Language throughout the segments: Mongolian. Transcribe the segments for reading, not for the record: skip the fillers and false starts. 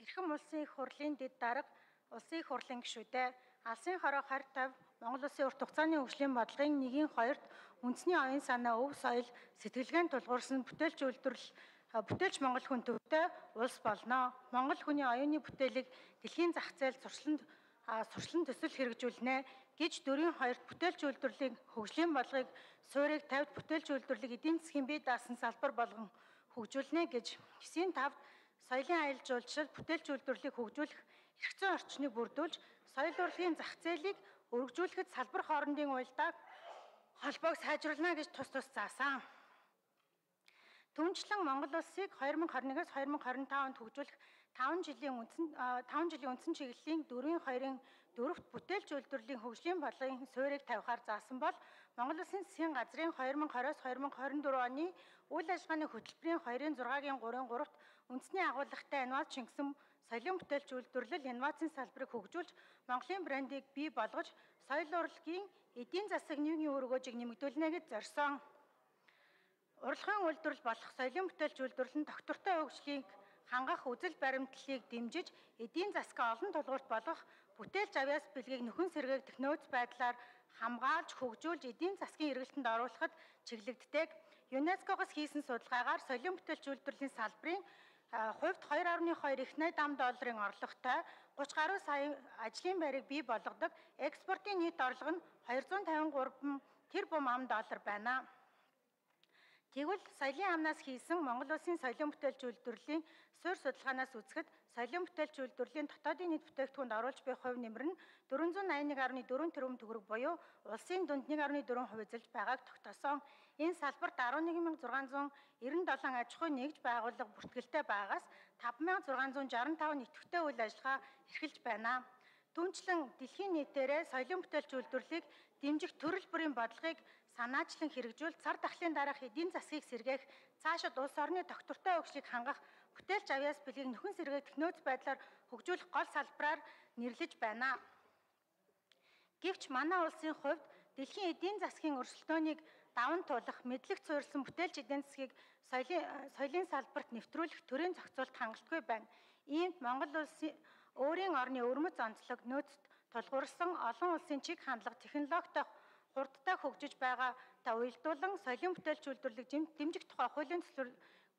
Эрхэм улсын их хурлын дэд дарга, улсын их хурлын гишүүдээ алсын хороо харь тавь Монгол улсын урт хугацааны хөгжлийн бодлогын 1-2-т үндэсний оюун санаа, өв соёл, сэтгэлгээнд тулгуурсан бүтээлч үйлдвэрлэл бүтээлч Монгол хүн төвтэй улс болно. Монгол хүний оюуны бүтээлийг дэлхийн зах зээлд сурчлан төсөл хэрэгжүүлнэ гэж 4-2-т бүтээлч үйлдвэрлэлийн хөгжлийн бодлогыг суурийг тавьд бүтээлч үйлдвэрлэлийг эдийн засгийн бие даасан салбар болгон хөгжүүлнэ гэж 9-5-т соёлын аялал жуулчлал бүтээлч үйлдвэрлэлийг хөгжүүлэх эрх зүйн орчныг бүрдүүлж, соёл урлагийн зах зээлийг өргөжүүлэхэд салбар хоорондын уялдааг холбоог сайжруулна гэж тус заасан. Түүнчлэн Монгол улсыг 2021-с 2025 онд хөгжүүлэх 5 жилийн үндсэн чиглэлийн 4-2-ын 4-т бүтээлч үйлдвэрлэлийн хөгжлийн бодлогын суурийг тавихаар заасан бол Монгол улсын засгийн газрын 2020-с 2024 оны үйл ажиллагааны хөтөлбөрийн 2-6-гийн 3-3-т үндэсний агуулгатай инновац шингэсэн соёлын бүтээлч үйлдвэрлэл инновацийн салбарыг хөгжүүлж, Монголын брендийг бий болгож, соёл урлагийн эдийн засаг нийгмийн өргөөжийг нэмэгдүүлнэ гэж зорьсон. Урлагийн үйлдвэрлэл болох соёлын бүтээлч үйлдвэрлэл нь доктортой хөгжлийг хангах үзэл баримтлалыг дэмжиж, эдийн засгаа олон тулгуурт болгох бүтээлч авяас бэлгийг нөхөн сэргээгдэх нөөц байдлаар хамгаалж, хөгжүүлж, эдийн засгийн эргэлтэнд оруулахад чиглэгддэг. ЮНЕСКО-гоос хийсэн судалгаагаар соёлын бүтээлч үйлдвэрлэлийн салбарын хувьд 2.2 их найт ам долларын орлоготой 30 гаруй сая ажлын байрыг бий болгодог. Экспортын нийт орлого нь 253 тэрбум ам доллар байна. Тэгвэл соёлын амнаас хийсэн Монгол улсын соёлын бүтээлч үйлдвэрлэлийн суурь судалгаанаас үзэхэд соёлын бүтээлч үйлдвэрлэлийн дотоодын нийт бүтээгдэхүүнд оруулж буй хувь нэмэр нь 481.4 тэрбум төгрөг буюу улсын дунд 1.4% эзэлж байгааг тогтоосон. Энэ салбарт 11,697 аж ахуй нэгж байгууллага бүртгэлтэй байгаас 5,665 нийтвэтэй үйл ажиллагаа эрхэлж байна. Түүнчлэн дэлхийн нийтээрээ соёлын бүтээлч үйлдвэрлэлийг дэмжих төрөл бүрийн бодлогыг санаачлан хэрэгжүүл цар тахлын дараах эдийн засгийг сэргээх, цаашид улс орны доктортой хөгжлийг хангах, бүтээлч авяас бэлгийг нөхөн сэргээгдэх нөөц байдлаар хөгжүүлэх гол салбараар нэрлэж байна. Гэвч манай улсын хувьд дэлхийн эдийн засгийн өрсөлдөөнийг даван туулах, мэдлэг суурилсан бүтээлч эдийн засгийг соёлын салбарт нэвтрүүлэх төрийн зохицуулт хангалтгүй байна. Иймд Монгол улсын өөрийн орны өвөрмөц онцлог нөөцт тулгуурсан олон улсын чиг хандлага технологитой хурдтай хөгжиж байгаатай уялдуулан соёлын бүтээлч үйлдвэрлэлийг дэмжих тухай хуулийн төслөөр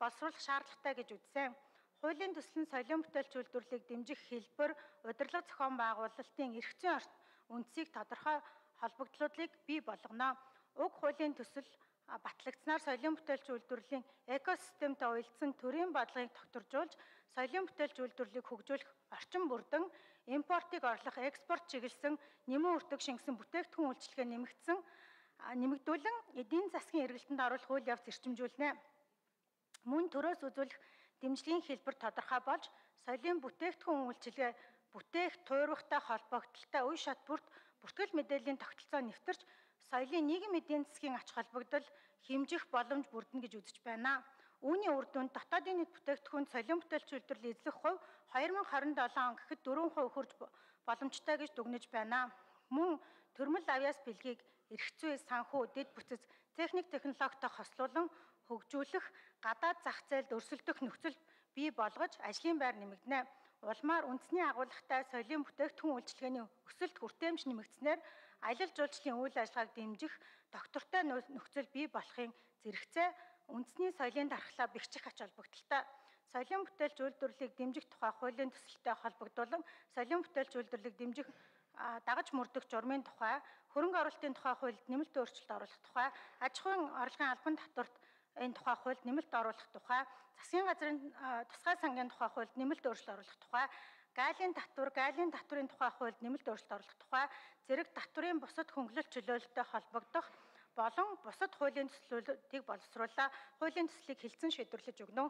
боловсруулах шаардлагатай гэж үзсэн. Хуулийн төсөл нь соёлын бүтээлч үйлдвэрлэлийг дэмжих хэлбэр, удирдлага зохион байгуулалтын эрх зүйн үндсийг тодорхой холбогдлуудыг бий болгоно. Уг хуулийн төсөл батлагдсанаар соёлын бүтээлч үйлдвэрлэлийн экосистемтэй уялдсан төрийн бодлогыг докторжуулж, соёлын бүтээлч үйлдвэрлэлийг хөгжүүлэх орчин бүрдэн, импортыг орлох, экспорт чиглэсэн нэмэн өртөг шингэсэн бүтээгдэхүүн үйлчилгээ нэмэгдүүлэн эдийн засгийн эргэлтэнд оруулах үйл явц эрчимжүүлнэ. Мөн төрөөс үзүүлэх дэмжлэгийн хэлбэр тодорхой болж, соёлын бүтээгдэхүүн үйлчилгээ бүтээх, туурвахтай холбогдолтой үе шат бүрт бүртгэл мэдээллийн тогтолцоо нэвтэрч, соёлын нийгэм эдийн засгийн ач холбогдол хэмжих боломж бүрдэнэ гэж үзэж байна. Үүний үр дүнд дотоодын нийт бүтээгдэхүүн соёлын бүтээлч үйлдвэрлэлийн эзлэх хувь 2027 он гэхэд 4% хүрч боломжтой гэж дүгнэж байна. Мөн төрмөл авяас бэлгийг эрх зүй, санхүү, дэд бүтц, техник технологитой хослуулан хөгжүүлэх, гадаад зах зээлд өрсөлдөх нөхцөл бий болгож ажлын байр нэмэгдэнэ. Улмаар үндэсний агуулгатай соёлын бүтээгдэхүүн үйлчилгээний өсөлт хүртээмж нэмэгдснээр аялал жуулчлалын үйл ажиллагааг дэмжих доктортой нөхцөл бий болохын зэрэгцээ үндэсний соёлын дархлаа бэхжих ач холбогдолтой. Соёлын бүтээлч үйлдвэрлэлийг дэмжих тухай хуулийн төсөлтэй холбогдуулан соёлын бүтээлч үйлдвэрлэлийг дэмжих дагаж мөрдөх журмын тухай, хөрөнгө оруулалтын тухай хуульд нэмэлт өөрчлөлт оруулах тухай, аж ахуйн орлогын албан татварт энэ тухай хуульд нэмэлт оруулах тухай, засгийн газрын тусгай сангийн тухай хуульд нэмэлт өөрчлөлт оруулах тухай, гаалийн татврын тухай хуульд нэмэлт өөрчлөлт оруулах тухай, зэрэг татврын бусад хөнгөлөлт чөлөөлөлтөй холбогдох болон бусад хуулийн төслүүдийг боловсруулаа. Хуулийн төслийг хэлцэн шийдвэрлэж өгнө.